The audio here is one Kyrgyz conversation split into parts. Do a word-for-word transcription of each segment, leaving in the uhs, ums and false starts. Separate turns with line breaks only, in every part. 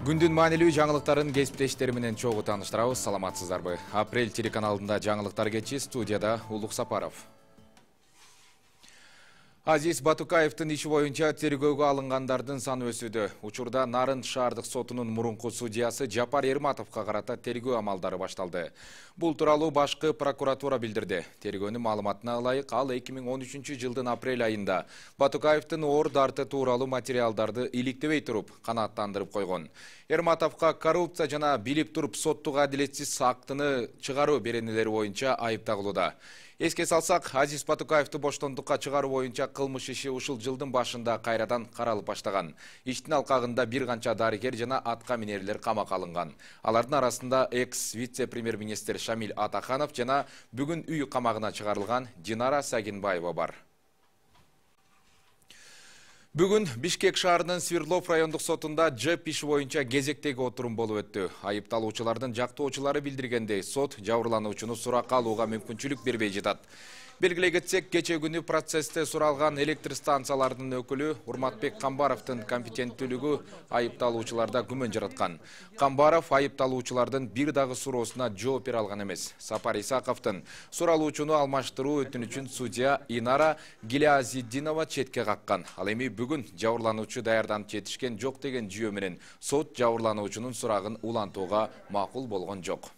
Күндүн маанилүү жаңылыктарын кесиптештери менен чогуу тааныштырабыз. Саламатсыздарбы? Апрель телеканалында жаңылыктар кечи, студияда Улук Сапаров. Азиз Батукаевдин иши боюнча тергөөгө алынгандардын саны өсүүдө. Учурда Нарын шаардык сотунун мурунку судьясы Жапар Эрматовго карата тергөө амалдары башталды. Бул тууралуу башкы прокуратура билдирди. Тергөөнүн маалыматына ылайык, ал эки миң он үчүнчү жылдын апрель айында Батукаевдин оор дарты тууралуу материалдарды иликтебей туруп канааттандырып койгон. Эрматовго коррупция жана билип туруп соттук адилетсиз актыны чыгаруу беренелери боюнча айып тагылууда. Эске салсак, Азиз Батукаевди боштондукка чыгаруу боюнча кылмыш иши ушул жылдын башында кайрадан каралып баштаган. Иштин алкагында бир канча дарыгер жана атка минерлер камакка алынган. Алардын арасында экс вице-премьер-министр Шамил Атаханов жана бүгүн үй камагына чыгарылган Динара Сагинбаева бар. Бүгүн Бишкек шаарынын Свердлов райондук сотунда ЖЭП иши боюнча кезектеги отурум болуп өттү. Айыпталуучулардын жактоочулары билдиргендей, сот жабырлануучуну суракка алууга мүмкүнчүлүк бербей жатат. Белгилей кетсек, кече күнү процессте суралган электр станциялардын өкүлү Урматбек Камбаровдун компетенттүүлүгү айыпталуучуларда күмөн жараткан. Камбаров айыпталуучулардын бир дагы суроосуна жооп бере алган эмес. Сапар Исаковдун суралуучуну алмаштыруу өтүнүчүн судья Инара Гилязиддинова четке каккан. Ал эми бүгүн жабырлануучу даярданып жетишкен жок деген жүйө менен сот жабырлануучунун сурагын улантууга макул болгон жок.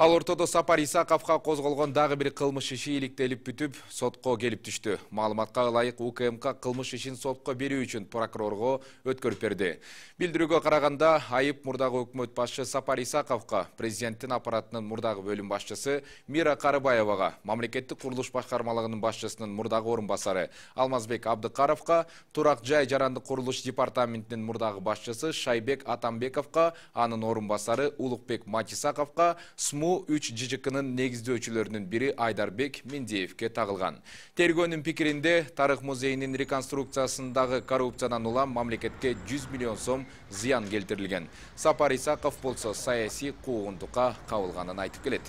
Ал ортодо Сапар Исаковго козголгон дагы бир кылмыш иши иликтелип бүтүп, сотко келип түштү. Маалыматка ылайык, УКМК кылмыш ишин сотко берүү үчүн прокурорго өткөрүп берди. Билдирүүгө караганда, айып мурдагы өкмөт башчы Сапар Исаковго, президенттин аппаратынын мурдагы бөлүм башчысы Мира Карыбаевага, мамлекеттик курулуш башкармалыгынын башчысынын мурдагы орун басары Алмазбек Абдыкаровго, Турак жай жарандык курулуш департаментинин мурдагы башчысы Шайбек Атамбековго, анын орун басары Улукбек Матисаковго, СМУ үч ЖЖКнын негиздөөчүлөрүнүн бири Айдарбек Мендеевке тагылган. Тергөөнүн пикиринде, Тарых музейинин реконструкциясындагы коррупциядан улам мамлекетке жүз миллион сом зыян келтирилген. Сапар Исаков болсо саясий куугунтукка кабылганын айтып келет.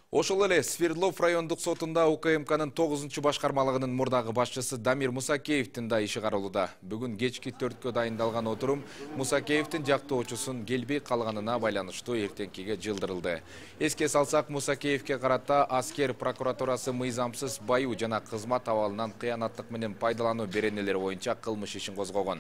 Ошол эле Свердлов райондук сотунда УКМКнын тогузунчу башкармалыгынын мурдагы башчысы Дамир Мусакеевдин да иши каралууда. Бүгүн кечки төрткө дайындалган отурум Мусакеевдин жактоочусун келбей калганына байланыштуу эртеңкиге жылдырылды. Эске салсак, Мусакеевге карата аскер прокуратурасы мыйзамсыз баюу жана кызмат абалынан кыянаттык менен пайдалануу беренелери боюнча кылмыш ишин козгогон.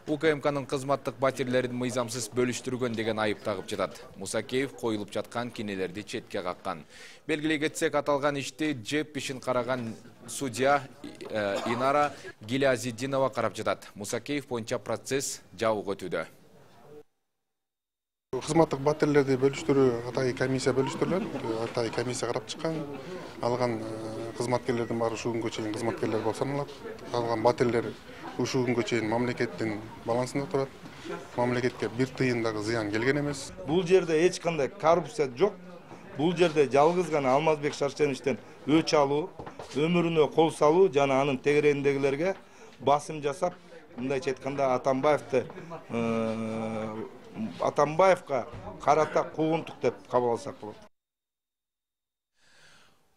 УКМКнын кызматтык батирлерин мыйзамсыз бөлүштүргөн деген айып тагып жатат. Мусакеев коюлуп жаткан кинелерди четке каккан. Белгилей кетсек, аталган ишти ЖЭП ишин караган судья Инара Гилязиддинова карап жатат. Мусакеев боюнча процесс жабык өтүүдө.
Кызматтык батирлерди бөлүштүрүү атайын комиссия бөлүштүрүлөт. Атайын комиссия карап чыккан. Алган кызматкерлердин баары ушул күнгө чейин кызматкерлер болуп саналат. Алган батирлер ушул күнгө чейин мамлекеттин балансында турат. Мамлекетке бир тыйын дагы зыян келген эмес.
Бул жерде эч кандай коррупция жок. Бул жерде жалгыз гана Алмазбек Шаршеновичтен өч алуу, өмүрүнө кол салуу жана анын тегерегиндегилерге басым жасап, мындайча айтканда Атамбаевди Атамбаевга карата куугунтук деп кабыл алсак болот.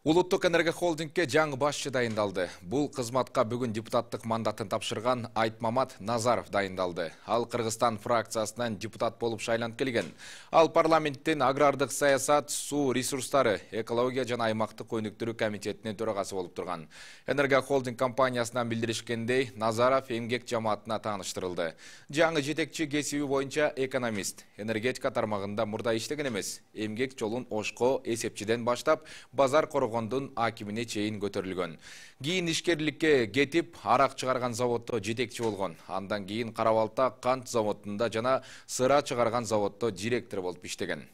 Улуттук энергия холдингке жаңы башчы дайындалды. Бул кызматка бүгүн депутаттык мандатын тапшырган Айтмамат Назаров дайындалды. Ал Кыргызстан фракциясынан депутат болуп шайланып келген. Ал парламенттин агрардык саясат, суу ресурстары, экология жана аймактык өнүктүрүү комитетинин төрагасы болуп турган. Энергия холдинг компаниясынан билдиришкендей, Назаров эмгек жамаатына тааныштырылды. Жаңы жетекчи кесиби боюнча экономист, энергетика тармагында мурда иштеген эмес. Эмгек жолун Ошко эсепчиден баштап, базар коргоо акимине чейин көтөрүлгөн. Кийин ишкерликке кетип, арак чыгарган заводдо жетекчи болгон. Андан кийин Карабалта кант заводунда жана сыра чыгарган заводдо директор болуп иштеген.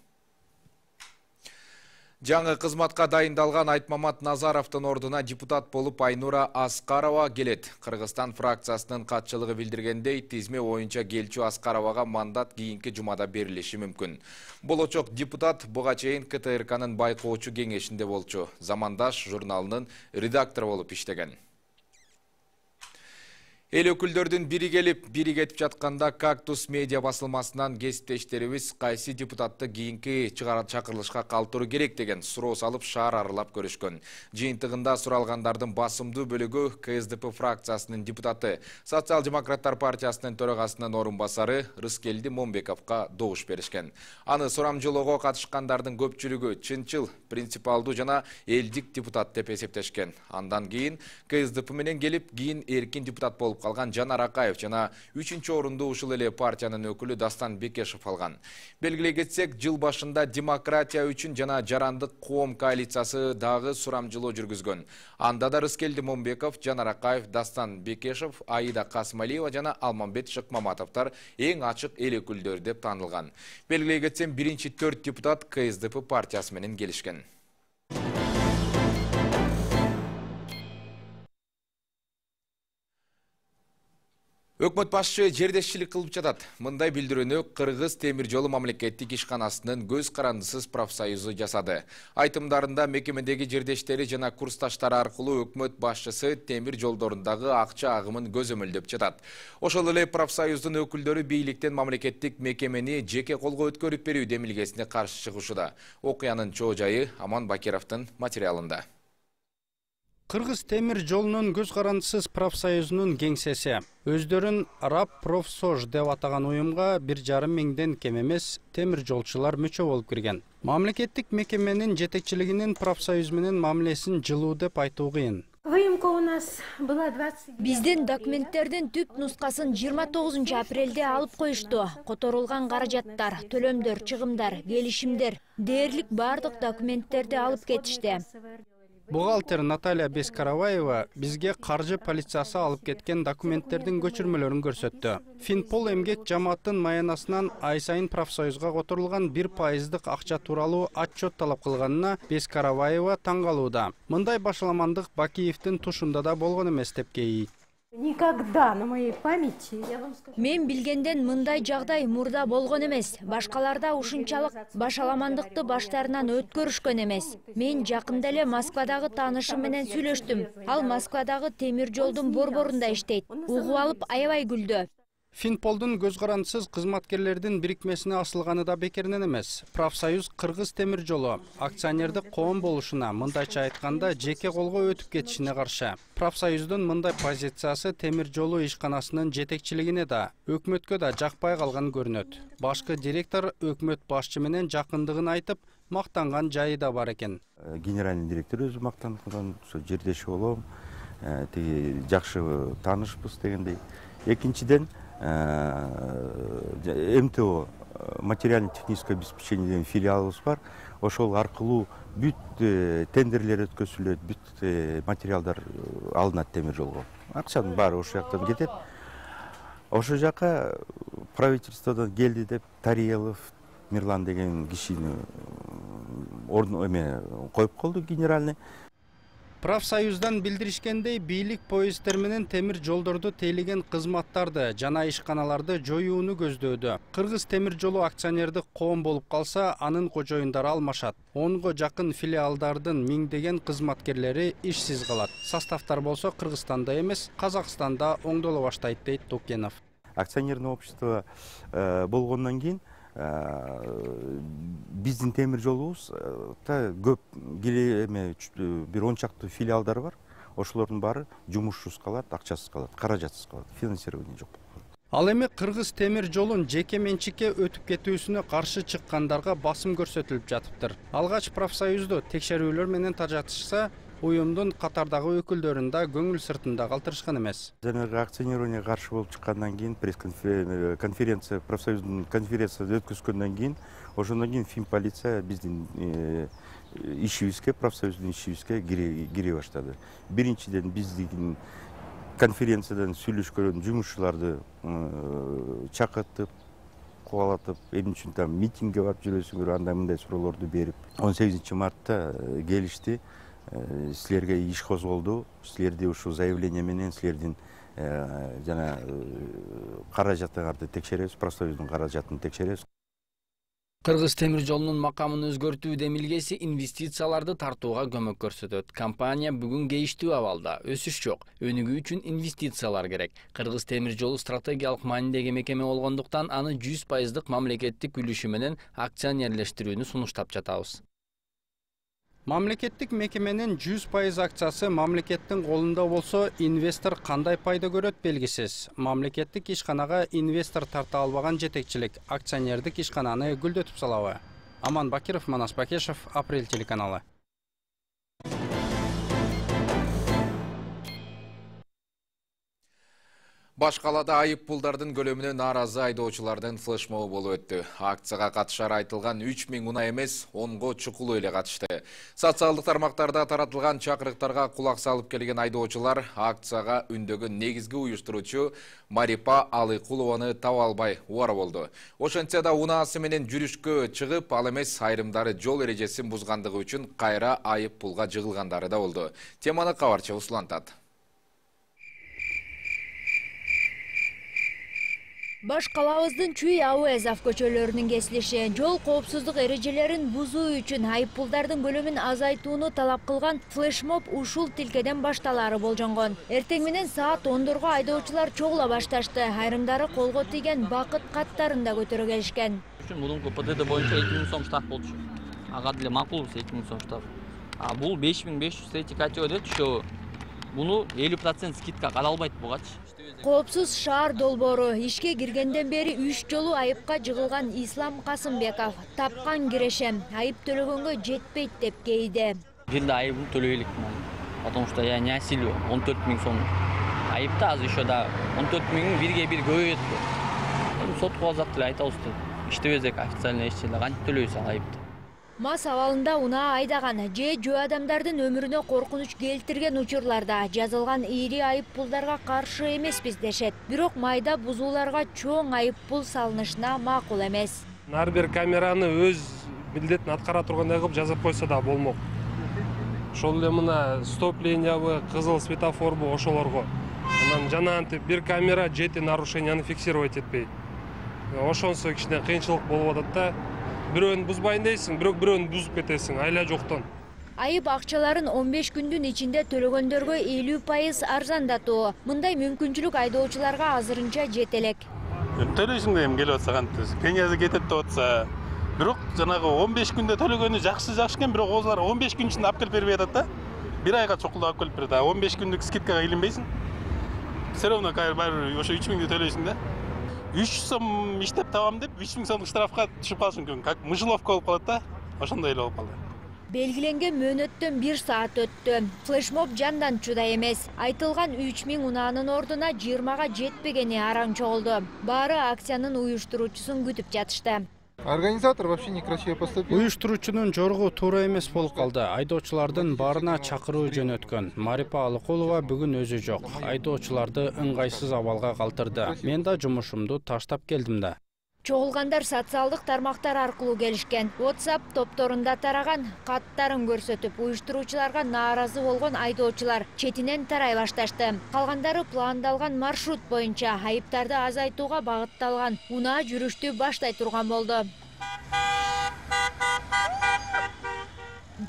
Жаңы кызматка дайындалган Айтмамат Назаровдун ордуна депутат болуп Айнура Аскарова келет. Кыргызстан фракциясынын катчылыгы билдиргендей, тизме боюнча келчү Аскаровага мандат кийинки жумада берилиши мүмкүн. Болочок депутат буга чейин КТРКнын байкоочу кеңешинде болчу. Замандаш журналынын редактору болуп иштеген. Эл өкүлдөрдүн бири келип, бири кетип жатканда Кактус медиа басылмасынан кесиптештерибиз кайсы депутатты кийинки чакырылышка калтыруу керек деген суроо салып шаар аралап көрүшкөн. Жыйынтыгында суралгандардын басымдуу бөлүгү Ка Эс Де Пэ фракциясынын депутаты, Социал-демократтар партиясынын төрагасынын орун басары Рыскелди Момбековго добуш беришкен. Аны сурамжылоого катышкандардын көпчүлүгү чынчыл, принципалдуу жана элдик депутат деп эсептешкен. Андан кийин Ка Эс Де Пэ менен келип, кийин эркин депутат болуп калган Жанар Акаев жана үчүнчү орунду ушул эле партиянын өкүлү Дастан Бекешев алган. Белгилей кетсек, жыл башында демократия үчүн жана жарандык коом коалициясы дагы сурамжылоо жүргүзгөн. Анда да Рыскелди Момбеков, Жанар Акаев, Дастан Бекешев, Аида Касымалиева жана Алмамбет Шыкмаматовдор эң ачык эл өкүлдөрү деп таанылган. Белгилей кетсем, биринчи төрт депутат Ка Эс Де Пэ партиясы менен келишкен. Өкмөт башчы жердешчилик кылып жатат. Мындай билдирүүнү Кыргыз темир жолу мамлекеттик ишканасынын көз карандысыз профсоюзу жасады. Айтымдарында мекемедеги жердештери жана курсташтары аркылуу өкмөт башчысы темир жолдорундагы акча агымын көзөмөлдөп жатат. Ошол эле профсоюздун өкүлдөрү бийликтен мамлекеттик мекемени жеке колго өткөрүп берүү демилгесине каршы чыгышууда. Окуянын чоо жайы Аман Бакировдун материалында.
Кыргыз темир жолунун көз карандысыз профсоюзунун кеңсеси өздөрүн Раб Профсож деп атаган уюмга бир жарым миңден кем эмес темир жолчулар мүчө болуп кирген. Мамлекеттик мекеменин жетекчилигинин профсоюз менен мамилесин жылуу деп айтуу кыйын.
Биздин документтердин түп нускасын жыйырма тогузунчу апрелде алып коюшту. Которулган каражаттар, төлөмдөр, чыгымдар, келишимдер, дээрлик бардык документтерди алып кетишти.
Бухгалтер Наталья Бескараваева бизге каржы полициясы алып кеткен документтердин көчүрмөлөрүн көрсөттү. Финпол эмгек жамааттын маянасынан ай сайын профсоюзга которулган бир пайыздык акча тууралуу отчет талап кылганына Бескараваева таң калууда. Мындай башаламандык Бакиевдин тушунда да болгон эмес деп кейийт.
Никогда на моей памяти.
Мен билгенден мындай жагдай мурда болгон эмес. Башкаларда ушунчалык башаламандыкты баштарынан өткөрүшкөн эмес. Мен жакында эле Москвадагы таанышым менен сүйлөштүм. Ал Москвадагы темир жолдун борборунда иштейт. Угуп алып аябай күлдү.
Финполдун көз карандысыз кызматкерлердин бирикмесине асылганы да бекеринен эмес. Профсоюз Кыргыз темир жолу акционердик коом болушуна, мындайча айтканда, жеке колго өтүп кетишине каршы. Профсоюздун мындай позициясы темир жолу ишканасынын жетекчилигине да, өкмөткө да жакпай калган көрүнөт. Башкы директор өкмөт башчы менен жакындыгын айтып, мактанган жайы да бар экен.
Генеральный директор өзү мактанган, жердеши болом, тиги жакшы таанышпыз дегендей. Экинчиден эм тэ о материально-техническое обеспечение деген филиалыбыз бар. Ошол аркылуу бүт тендерлер өткөзүлөт, бүт материалдар алынат темир жолго. Акчанын баары ошол жактан кетет. Ошол жака правительстводон келди деп Тариелов Мирлан деген кишини ордун эме коюп колду генеральный.
Профсоюздан билдиришкендей, бийлик поезддер менен темир жолдорду тейлеген кызматтарды жана ишканаларды жоюуну көздөөдө. Кыргыз темир жолу акционердик коом болуп калса, анын кожоюндары алмашат. онго жакын филиалдардын миңдеген кызматкерлери ишсиз калат. Составтар болсо Кыргызстанда эмес, Казакстанда оңдоло баштайт дейт Тукенов.
Акционерный общество болгондон кийин биздин темир жолубузда көп эме бир он чакты филиалдар бар. Ошолордун баары жумушсуз калат, акчасыз калат, каражатсыз калат, финансирование жок.
Ал эми Кыргыз темир жолун жеке менчикке өтүп кетүүсүнө каршы чыккандарга басым көрсөтүлүп жатыптыр. Алгач профсоюзду текшерүүлөр менен тажатышса, уюмдун катардагы өкүлдөрүн да көңүл сыртында калтырышкан эмес.
Жанагы акционированиеге каршы болуп чыккандан кийин, пресс-конференция, профсоюздун конференциясы өткөзгөндөн кийин, ошондон кийин Финполиция биздин ишибизге, профсоюздун ишибизге кире баштады. Биринчиден биздин конференциядан сүйлөшкөн жумушчуларды чакыртып, кубалатып, эмне үчүн там митингге барып жүрөсүңөр, андай мындай суроолорду берип, он сегизинчи мартта келишти. Силерге иш козголду, силерди ушул заявление менен силердин жана каражатыңарды текшеребиз, профсоюздун каражатын текшеребиз.
Кыргыз темир жолунун макамын өзгөртүү демилгеси инвестицияларды тартууга көмөк көрсөтөт. Компания бүгүн кейиштүү абалда. Өсүш жок. Өнүгүү үчүн инвестициялар керек. Кыргыз темир жолу стратегиялык маанидеги мекеме болгондуктан аны жүз пайыздык мамлекеттик үлүшү менен акционерлештирүүнү сунуштап жатабыз.
Мамлекеттик мекеменин жүз пайыз акциясы мамлекеттин колунда болсо, инвестор кандай пайда көрөт белгисиз. Мамлекеттик ишканага инвестор тарта албаган жетекчилик акционердик ишкананы гүлдөтүп салабы? Аман Бакиров, Манас Бакешев, Апрель телеканалы.
Баш калада айып пулдардын көлөмүнө нааразы айдоочулардын флешмобу болуп өттү. Акцияга катышары айтылган үч миң унаа эмес, онго чукулуу эле катышты. Социалдык тармактарда таратылган чакырыктарга кулак салып келген айдоочулар акцияга үндөгөн негизги уюштуруучу Марипа Алыкулованы таба албай убара болду. Ошентсе да унаасы менен жүрүшкө чыгып, ал эмес айрымдары жол эрежесин бузгандыгы үчүн кайра айып пулга жыгылгандары да болду. Теманы кабарчы улантат.
Баш калабыздын Чүй Ауэзов көчөлөрүнүн кесилиши жол коопсуздук эрежелерин бузуу үчүн айып пулдардын көлөмүн азайтууну талап кылган флешмоб ушул тилкеден башталары болжонгон. Эртең менен саат ондорго айдоочулар чогула башташты. Айрымдары колго тийген бакыт каттарын да көтөрө келишкен.
Мурунку ПДД боюнча эки миң сом штраф болчу. Ага деле макул эки миң сом штраф. А бул беш миң беш жүз третий категория түшөбү. Буну элүү процент скидка каралбайт бугачы.
Коопсуз шаар долбоору ишке киргенден бери үч жолу айыпка жыгылган Ислам Касымбеков тапкан кирешем айып төлөгөнгө жетпейт деп кейди.
Бирде айыбын төлөй элек, потому что я не осилю он төрт миң сом. Айыпты азыр еще да он төрт миң бирге бир көбөйөт. Сотко алсак деле айтабыз да. Иштебесек официально эч жерде кантип төлөйбүз ал айыпты.
Мас абалында унаа айдаган же жөө адамдардын өмүрүнө коркунуч келтирген учурларда жазылган ири айып пулдарга каршы эмеспиз дешет. Бирок майда бузууларга чоң айып пул салынышына макул эмес.
Ар бир камераны өз милдетин аткара тургандай кылып жазып койсо да болмок. Ошол эле мына стоп-линиябы, кызыл светофорбу ошолорго. Анан жана антип бир камера жети нарушенияны фиксировать этпейт. Ошонсо кичине кыйынчылык болуп атат да. Бирөөнү бузбайын дейсиң, бирок бирөөнү бузуп кетесиң, айла жоктон.
Айып акчаларын он беш күндүн ичинде төлөгөндөргө элүү пайыз арзандатуу. Мындай мүмкүнчүлүк айдоочуларга азырынча жете элек.
Төлөйсүң дейм келип атса кантип, пениясы кетет деп атса. Бирок жанагы он беш күндө төлөгөнү жакшы жакшы экен, бирок олар он беш күн ичинде алып келип бербей атат да. Бир айга чокулдап алып келип берет. он беш күндүк скидкага илинбейсиң. Все равно баары ошо үч миңди төлөйсүң да. үч сом иштеп табам деп үч миң сомдук штрафка түшүп калышың мүмкүн. Как мышеловка болуп калат да. Ошондой эле болуп калды.
Белгиленген мөөнөттөн бир саат өттү. Флешмоб жандан чудай эмес. Айтылган үч миң унаанын ордуна жыйырмага жетпегени араң чогулду. Баары акциянын уюштуруучусун күтүп жатышты.
Организатор вообще некрасиво поступил.
Уюштуруучунун жоругу туура эмес болуп калды. Айдоочулардын баарына чакыруу жөнөткөн. Марипа Алыкулова бүгүн өзү жок. Айдоочуларды ыңгайсыз абалга калтырды. Мен да жумушумду таштап келдим да.
Чогулгандар социалдык тармактар аркылуу келишкен. WhatsApp топторунда тараган каттарын көрсөтүп, уюштуруучуларга нааразы болгон айдоочулар четинен тарай башташты. Калгандары пландалган маршрут боюнча айыптарды азайтууга багытталган унаа жүрүштү баштай турган болду.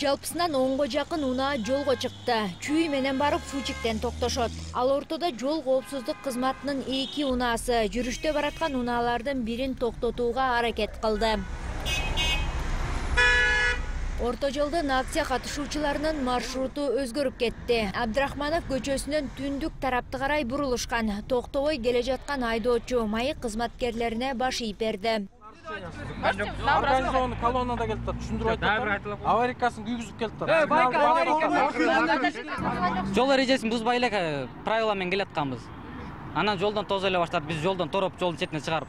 Жалпысынан онго жакын унаа жолго чыкты. Чүй менен барып Фучиктен токтошот. Ал ортодо жол коопсуздук кызматынын эки унаасы жүрүштө бараткан унаалардын бирин токтотууга аракет кылды. Орто жолдон акция катышуучуларынын маршруту өзгөрүп кетти. Абдрахманов көчөсүнөн түндүк тарапты карай бурулушкан. Токтобой келе жаткан айдоочу майык кызматкерлерине баш ийип берди.
Организованный колоннада келиптир, түшүндүрүп айтып. Аварийкасын күйгүзүп келиптир.
Э, байка аварийка. Жол эрежесин бузбай эле правила менен келатканбыз. Анан жолдон тозо эле баштап, биз жолдон тороп, жолдун четине чыгарып.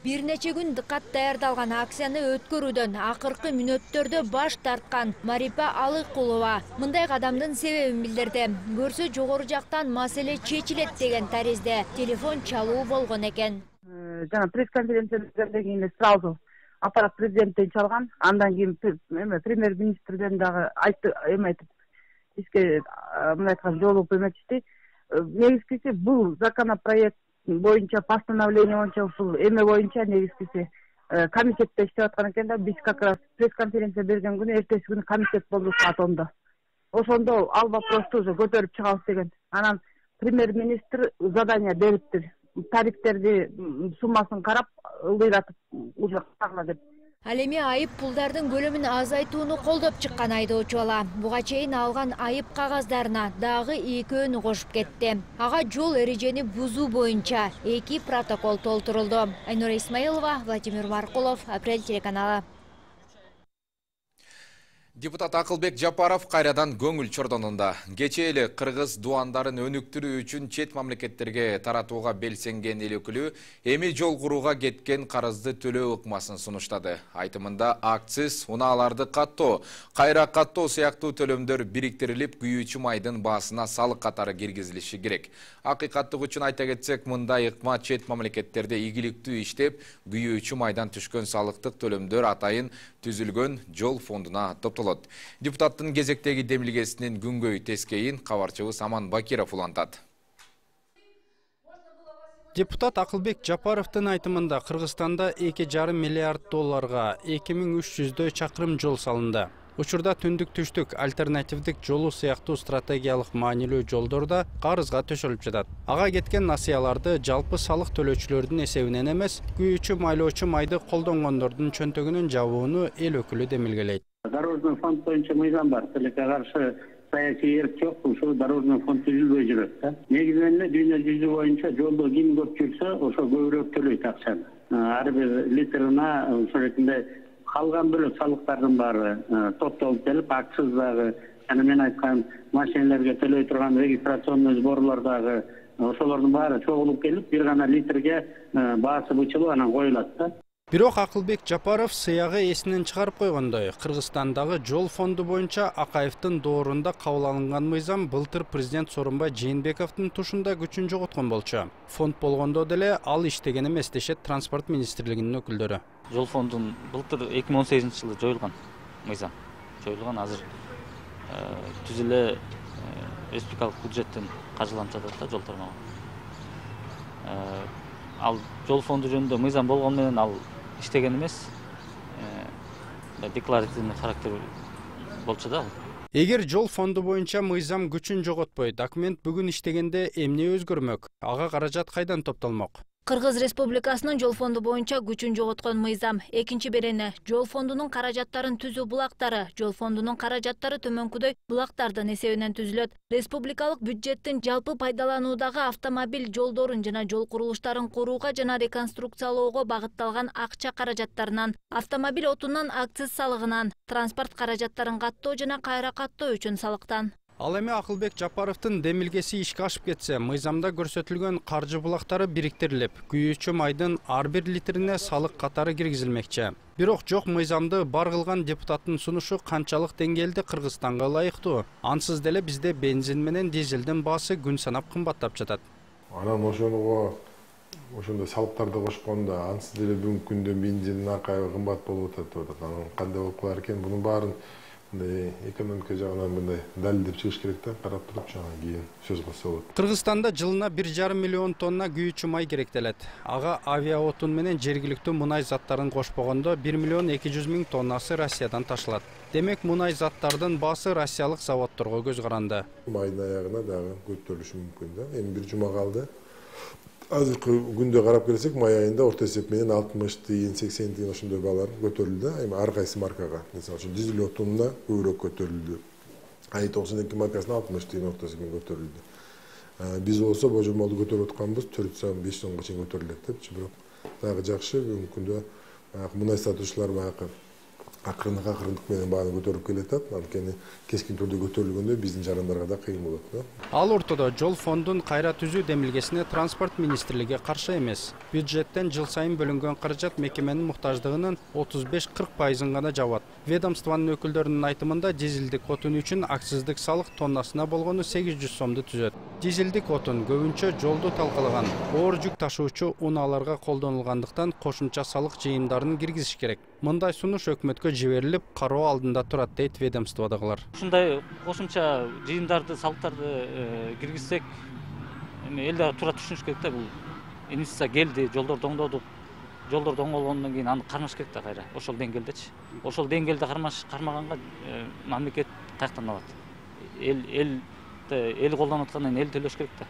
Бир нече күн дыккат даярдалган акцияны өткөрүүдөн акыркы мүнөттөрдө баш тарткан Марипа Алыкулова мындай кадамдын себебин билдирди. Көрсө жогору жактан маселе чечилет деген таризде телефон чалуу болгон экен.
Жана пресс-конференциядан кийин сразу аппарат президенттен чалган, андан кийин премьер-министрден дагы айтты, эме айтып, бизге мындай айткан жолугуп эметишти. Негизгиси бул законопроект боюнча, постановление боюнча, ушул эме боюнча негизгиси комитетте иштеп аткан экен да, биз как раз пресс-конференция берген күнү эртеси күнү комитет болду саат ондо. Ошондо ал вопросту уже көтөрүп чыгабыз деген. Анан премьер-министр задание бериптир. Тарифтерди суммасын карап, ылдыйратып уже кагыла деп.
Ал эми айып пулдардын көлөмүн азайтууну колдоп чыккан айдоочу бала буга чейин алган айып кагаздарына дагы экөөнү кошуп кетти. Ага жол эрежени бузуу боюнча эки протокол толтурулду. Айнура Исмаилова, Владимир Маркулов, Апрель телеканалы.
Депутат Акылбек Жапаров кайрадан көңүл чордонунда. Кечээ эле кыргыз дуандарын өнүктүрүү үчүн чет мамлекеттерге таратууга белсенген эл өкүлү эми жол курууга кеткен карызды төлөө ыкмасын сунуштады. Айтымында акциз, унааларды каттоо, кайра каттоо сыяктуу төлөмдөр бириктирилип, күйүүчү майдын баасына салык катары киргизилиши керек. Акыйкаттык үчүн айта кетсек, мындай ыкма чет мамлекеттерде ийгиликтүү иштеп, күйүүчү майдан түшкөн салыктык төлөмдөр атайын түзүлгөн жол фондуна топтолот. Депутаттын кезектеги демилгесинин күнгөй тескейин кабарчыбыз Аман Бакиров улантат.
Депутат Акылбек Жапаровдун айтымында Кыргызстанда эки жарым миллиард долларга эки миң үч жүздөй чакырым жол салынды. Учурда түндүк-түштүк альтернативдик жолу сыяктуу стратегиялык маанилүү жолдорда карызга төшөлүп жатат. Ага кеткен насыяларды жалпы салык төлөөчүлөрдүн эсебинен эмес, күйүүчү майлоочу майды колдонгондордун чөнтөгүнүн жабууну эл өкүлү демилгелейт.
Дорожный фонд боюнча мыйзам бар. Тилекке каршы саясий эрк жок, ушул дорожный фонд түзүлбөй жүрөт да. Негизинен эле дүйнө жүзү боюнча жолдо ким көп жүрсө, ошо көбүрөөк төлөйт акчаны. Ар бир литрына ошол ретинде калган бөлөк салыктардын баары топтолуп келип, акциз дагы, жана мен айткан машиналарга төлөй турган регистрационный сборлор дагы, ошолордун баары чогулуп келип, бир гана литрге баасы бычылып анан коюлат да.
Бирок Акылбек Жапаров сыягы эсинен чыгарып койгондой, Кыргызстандагы жол фонду боюнча Акаевдин доорунда кабыл алынган мыйзам былтыр президент Сооронбай Жээнбековдун тушунда күчүн жоготкон болчу. Фонд болгондо деле ал иштеген эмес дешет транспорт министрлигинин өкүлдөрү.
Жол фондун былтыр эки миң он сегизинчи жылы жоюлган мыйзам. Жоюлган азыр түз эле республикалык бюджеттен каржыланып жатат да жол тармагы. Ал жол фонду жөнүндө мыйзам болгону менен ал иштеген эмес, декларативный характер болчу да.
Эгер жол фонду боюнча мыйзам күчүн жоготпой, документ бүгүн иштегенде эмне өзгөрмөк? Ага каражат кайдан топтолмок?
Кыргыз Республикасынын жол фонду боюнча күчүн жоготкон мыйзам. Экинчи берени жол фондунун каражаттарын түзүү булактары, жол фондунун каражаттары төмөнкүдөй булактардын эсебинен түзүлөт. Республикалык бюджеттин жалпы пайдалануудагы автомобиль жолдорун жана жол курулуштарын курууга жана реконструкциялоого багытталган акча каражаттарынан, автомобиль отунан акциз салыгынан, транспорт каражаттарын каттоо жана кайра каттоо үчүн салыктан.
Ал эми Акылбек Жапаровдун демилгеси ишке ашып кетсе, мыйзамда көрсөтүлгөн каржы булактары бириктирилип, күйүүчү майдын ар бир литрине салык катары киргизилмекчи. Бирок жок мыйзамды бар кылган депутаттын сунушу канчалык деңгээлде Кыргызстанга ылайыктуу? Ансыз деле бизде бензин менен дизелдин баасы күн санап кымбаттап жатат.
Анан ошого ошондой салыктарды кошкондо ансыз деле бүгүнкү күндө бензиндин акайы кымбат болуп атат. Анан кандай болуп калар экен? Бунун баарын экономика жагынан мындай далилдеп чыгыш керек да, карап туруп жана кийин сөз кылса болот.
Кыргызстанда жылына бир жарым миллион тонна күйүүчү май керектелет. Ага авиаотун менен жергиликтүү мунай заттарын кошпогондо бир миллион эки жүз миң тоннасы Россиядан ташылат. Демек, мунай заттардын баасы россиялык заводдорго көз каранды.
Майдын аягына дагы көтөрүлүшү мүмкүн да. Эми бир жума калды. Азыркы күндө карап келсек, май айында орто эсеп менен алтымыш тыйын, сексен тыйын ошондой баалар көтөрүлдү. Эми ар кайсы маркага, мисалы үчүн дизель отунда көбүрөөк көтөрүлдү. ай токсон эки маркасына алтымыш тыйын орто эсепмен көтөрүлдү. Биз болсо божомолду көтөрүп атканбыз, төрт сом беш сомго чейин көтөрүлөт депчи, бирок дагы жакшы бүгүнкү күндө мунай сатуучулар баягы акырындык акырындык менен бааны көтөрүп келатат. Анткени кескин түрдө көтөрүлгөндө биздин жарандарга да кыйын болот да.
Ал ортодо жол фондун кайра түзүү демилгесине транспорт министрлиги каршы эмес. Бюджеттен жыл сайын бөлүнгөн каражат мекеменин муктаждыгынын отуз беш кырк пайызын гана жабат. Ведомствонун өкүлдөрүнүн айтымында дизелдик отун үчүн акциздик салык тоннасына болгону сегиз жүз сомду түзөт. Дизелдик отун көбүнчө жолду талкалаган оор жүк ташуучу унааларга колдонулгандыктан кошумча салык жыйымдарын киргизиш керек. Мындай сунуш өкмөткө жиберилип, кароо алдында турат дейт ведомстводагылар.
Ушундай кошумча жыйымдарды, салыктарды киргизсек, эми эл да тура түшүнүш керек да, бул инвестиция келди, жолдорду оңдодук,
жолдорду оңголгондон кийин аны кармаш керек да кайра ошол деңгээлдечи. Ошол деңгээлде кармаш кармаганга мамлекет каяктан алат? Эл эл эл колдонуп аткандан эл төлөш керек да.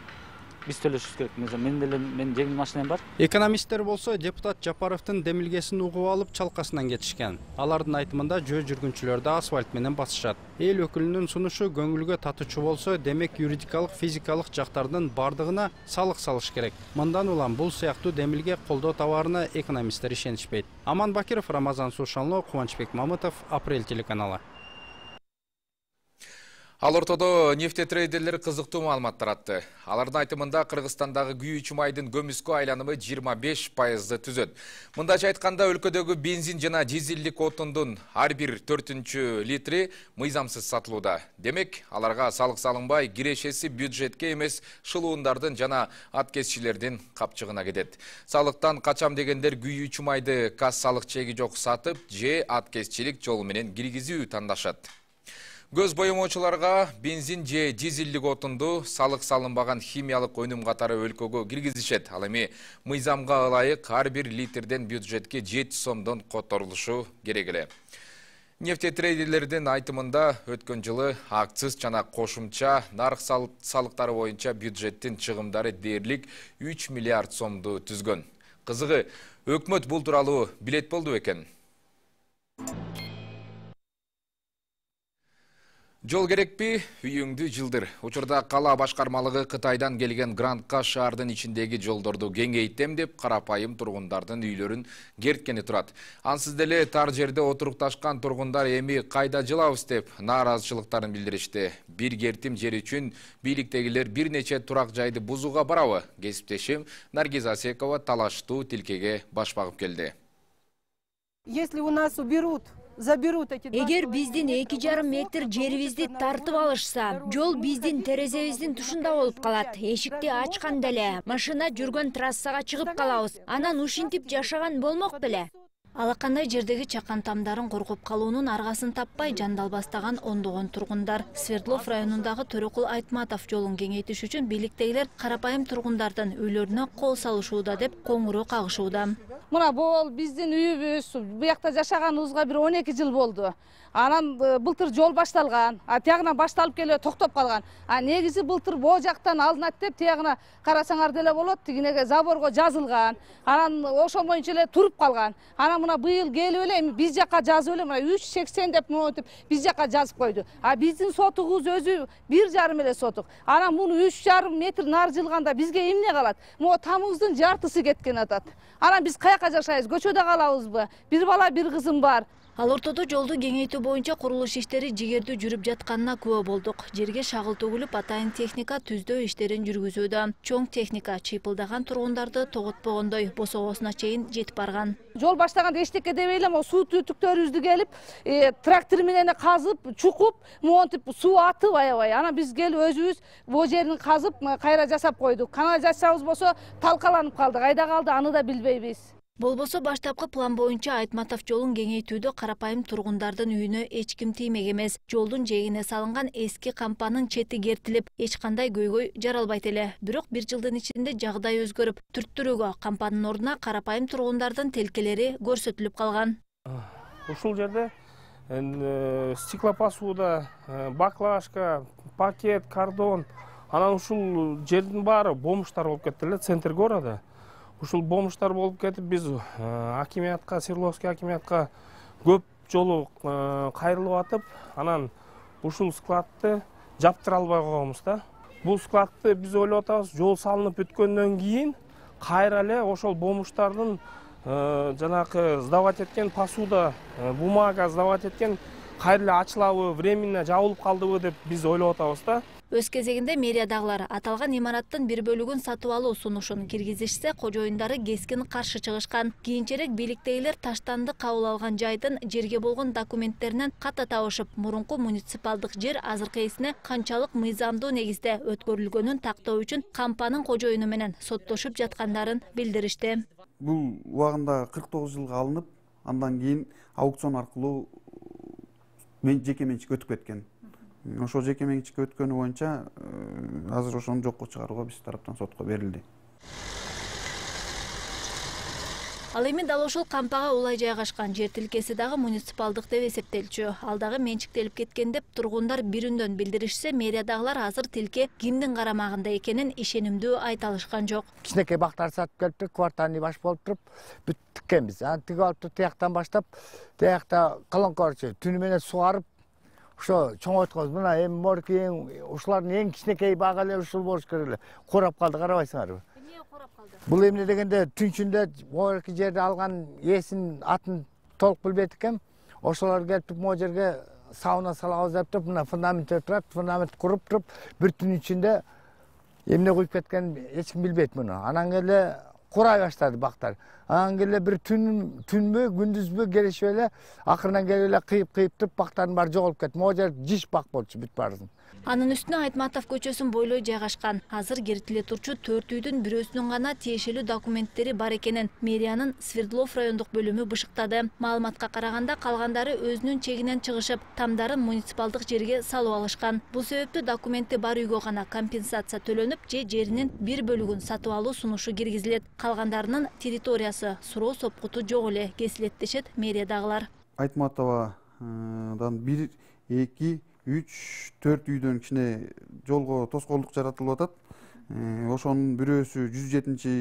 Биз төлөшүбүз керек. Мен деле менин жеңил машинам бар.
Экономисттер болсо депутат Жапаровдун демилгесин угуп алып чалкасынан кетишкен. Алардын айтымында жөө жүргүнчүлөрдү асфальт менен басышат. Эл өкүлүнүн сунушу көңүлгө татуучу болсо, демек юридикалык, физикалык жактардын бардыгына салык салыш керек. Мындан улам бул сыяктуу демилге колдоо табарына экономисттер ишенишпейт. Аман Бакиров, Рамазан Сушанло, Кубанычбек Мамытов, Апрель телеканалы.
Ал ортодо нефтетрейдерлер кызыктуу маалымат таратты. Алардын айтымында Кыргызстандагы күйүүчү майдын көмүскө айланымы жыйырма беш пайызды түзөт. Мындайча айтканда өлкөдөгү бензин жана дизелдик отундун ар бир төртүнчү литри мыйзамсыз сатылууда. Демек, аларга салык салынбай, кирешеси бюджетке эмес шылуундардын жана аткезчилердин капчыгына кетет. Салыктан качам дегендер күйүүчү майды кассалык чеги жок сатып, же аткезчилик жолу менен киргизүү тандашат. Көз боемоочуларга бензин же дизелдик отунду салык салынбаган химиялык өнүм катары өлкөгө киргизишет. Ал эми мыйзамга ылайык ар бир литрден бюджетке жети сомдон которулушу керек эле. Нефтетрейдерлердин айтымында өткөн жылы акциз жана кошумча нарк салыктары боюнча бюджеттин чыгымдары дээрлик үч миллиард сомду түзгөн. Кызыгы, өкмөт бул тууралуу билет болду экен. Жол керекпи, үйүңдү жылдыр. Учурда кала башкармалыгы Кытайдан келген грантка шаардын ичиндеги жолдорду кеңейтем деп карапайым тургундардын үйлөрүн керткени турат. Ансыз деле тар жерде отурукташкан тургундар эми кайда жылабыз деп нааразычылыктарын билдиришти. Бир кертим жер үчүн бийликтегилер бир нече турак жайды бузууга барабы? Кесиптешим Наргиз Асекова талаштуу тилкеге баш багып келди.
Если у нас уберут
Эгер биздин эки жарым метр жерибизди тартып алышса, жол биздин терезебиздин тушунда болуп калат. Эшикти ачканда эле машина жүргөн трассага чыгып калабыз. Анан ушинтип жашаган болмок беле. Алакандай жердеги чакан тамдарын коргоп калуунун аргасын таппай жандалбастаган ондогон тургундар. Свердлов районундагы Төрөкул Айтматов жолун кеңейтиш үчүн бийликтегилер карапайым тургундардын үйлөрүнө кол салышууда деп коңгуроо кагышууда.
Мына бул биздин үйүбүз, буякта жашаганыбызга бир он эки жыл болду. Анан былтыр жол башталган, а тиягынан башталып келе токтоп калган. А негизи былтыр боо жактан алынат деп тиягына карасаңар деле болот, тигинеге заборго жазылган. Анан ошол боюнча эле туруп калган. Анан мына быйыл келип эле эми биз жакка жазып эле мына үч сексен деп монтип биз жакка жазып койду. А биздин сотугубуз өзү бир жарым эле сотук. Анан муну үч жарым метр нары жылганда бизге эмне калат? Могу тамыбыздын жартысы кеткен атат. Анан биз каяка жашайбыз? Көчөдө калабызбы? Бир бала, бир кызым бар.
Ал ортодо жолду кеңейтүү боюнча курулуш иштери жигердүү жүрүп жатканына күбө болдук. Жерге шагыл төгүлүп, атайын техника түздөө иштерин жүргүзүүдө. Чоң техника чыйпылдаган тургундарды тоготпогондой босогосуна чейин жетип барган.
Жол баштаганда эчтеке дебей эле могу суу түтүктөрүбүздү келип, трактор менен казып, чукуп, монтип суу атып аябай. Анан биз келип өзүбүз бул жерин казып, кайра жасап койдук. Канализациябыз болсо талкаланып калды. Кайда калды, аны да билбейбиз.
Болбосо баштапкы план боюнча Айтматов жолун кеңейтүүдө карапайым тургундардын үйүнө эч ким тиймек эмес. Жолдун жээгине салынган эски кампанын чети кертилип, эч кандай көйгөй жаралбайт эле. Бирок бир жылдын ичинде жагдай өзгөрүп, түрттүрүүгө кампанын ордуна карапайым тургундардын тилкелери көрсөтүлүп калган.
Ушул жерде стеклопосуда, баклажка, пакет, кардон, анан ушул жердин баары бомуштар болуп кетти эле центр города. Ушул бомуштар болуп кетип, биз акимиятка, Свердловский акимиятка көп жолу кайрылып атып, анан ушул складты жаптыра албай койгонбуз да. Бул складты биз ойлоп атабыз, жол салынып бүткөндөн кийин кайра эле ошол бомуштардын жанакы сдавать эткен посуда, бумага сдавать эткен кайра эле ачылабы, временно жабылып калдыбы деп биз ойлоп атабыз да.
Өз кезегинде мэриядагылар аталган имараттын бир бөлүгүн сатып алуу сунушун киргизишсе, кожоюндары кескин каршы чыгышкан. Кийинчерээк бийликтегилер таштанды кабыл алган жайдын жерге болгон документтеринен ката табышып, мурунку муниципалдык жер азыркы эсине канчалык мыйзамдуу негизде өткөрүлгөнүн тактоо үчүн кампанын кожоюну менен соттошуп жаткандарын билдиришти.
Бул убагында кырк тогуз жылга алынып, андан кийин аукцион аркылуу жеке менчикке өтүп кеткен. Ошол жеке менчикке өткөнү боюнча азыр ошону жокко чыгарууга биз тараптан сотко берилди.
Ал эми дал ошол кампага улай жайгашкан жер тилкеси дагы муниципалдык деп эсептелчү. Ал дагы менчиктелип кеткен деп тургундар бирүндөн билдиришсе, мэриядагылар азыр тилке кимдин карамагында экенин ишенимдүү айта алышкан жок.
Кичинекей бактар сатып келиптир, квартальный баш болуп туруп, бүт тиккенбиз. Аны тигип алып туруп, тияктан баштап, тиякта кылыңкорчу түнү менен сугарып, ошо чоңойтконбуз. Мына эми морки ушулардын эң кичинекей багы эле ушул болуш керек эле. Курап калды, карабайсыңарбы?
Эмне курап калды?
Бул эмне дегенде түнчүндө морки жерди алган ээсин атын толук билбейт экен. Ошолор келип туруп могу жерге сауна салабыз деп туруп, мына фундамент турат, фундамент куруп туруп, бир түн ичинде эмне куюп кеткенин эч ким билбейт муну. Анан келе курай баштады бактар. Анан келе бир түн түнбү, күндүзбү келишип эле акырынан келип эле кыйып-кыйып туруп бактардын баары жоголуп кетти. Могу жер жиш бак болчу бүт баарысын.
Анын үстүнө Айтматов көчөсүн бойлой жайгашкан. Азыр киртиле турчу төрт үйдүн бирөөсүнүн гана тиешелүү документтери бар экенин мэриянын Свердлов райондук бөлүмү бышыктады. Маалыматка караганда калгандары өзүнүн чегинен чыгышып, тамдарын муниципалдык жерге салып алышкан. Бул себептүү документи бар үйгө гана компенсация төлөнүп, же жеринин бир бөлүгүн сатып алуу сунушу киргизилет. Калгандарынын территориясы суроо сопкуту жок эле, кесилет дешет мэриядагылар.
Айтматовадан бир, эки, үч, төрт үйдөн кичине жолго тоскоолдук жаратылып атат. Ошонун бирөөсү жүз жетинчи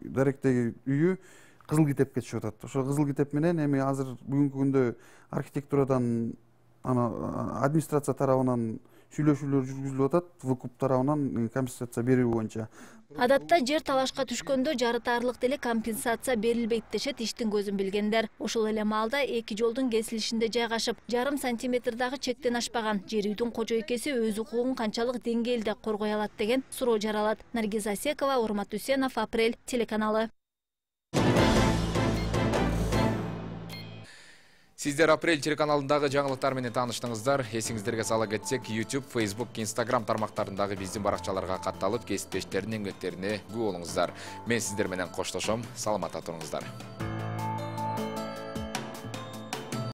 даректеги үйү кызыл китепке түшүп атат. Ошо кызыл китеп менен эми азыр бүгүнкү күндө архитектурадан ана администрация тарабынан сүйлөшүүлөр жүргүзүлүп атат, выкуп тарабынан компенсация берүү боюнча.
Адатта жер талашка түшкөндө жарытарлык деле компенсация берилбейт дешет иштин көзүн билгендер. Ошол эле маалда эки жолдун кесилишинде жайгашып, жарым сантиметрдагы чектен ашпаган жер үйдүн кожойкеси өз укугун канчалык деңгээлде коргой алат деген суроо жаралат. Наргиз Асекова, Урмат Үсенов, Апрель телеканалы.
Сиздер Апрель телеканалындагы жаңылыктар менен тааныштыңыздар. Эсиңиздерге сала кетсек, YouTube, Facebook, Instagram тармактарындагы биздин баракчаларга катталып, кесиптештердин эмгектерине күбө болуңуздар. Мен сиздер менен коштошом. Саламатта туруңуздар.